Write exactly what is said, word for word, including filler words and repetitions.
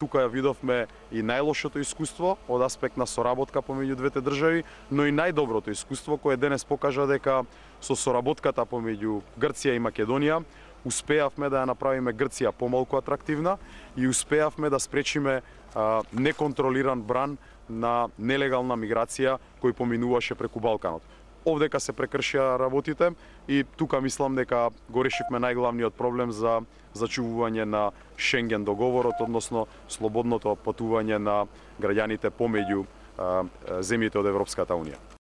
тука ја видовме и најлошото искуство од аспект на соработка помеѓу двете држави, но и најдоброто искуство кое денес покажа дека со соработката помеѓу Грција и Македонија успеавме да ја направиме Грција помалку атрактивна и успеавме да спречиме а, неконтролиран бран на нелегална миграција кој поминуваше преку Балканот. Овдека се прекршија работите и тука мислам дека го решивме најглавниот проблем за зачувување на Шенген договорот, односно слободното патување на граѓаните помеѓу а, земјите од Европската унија.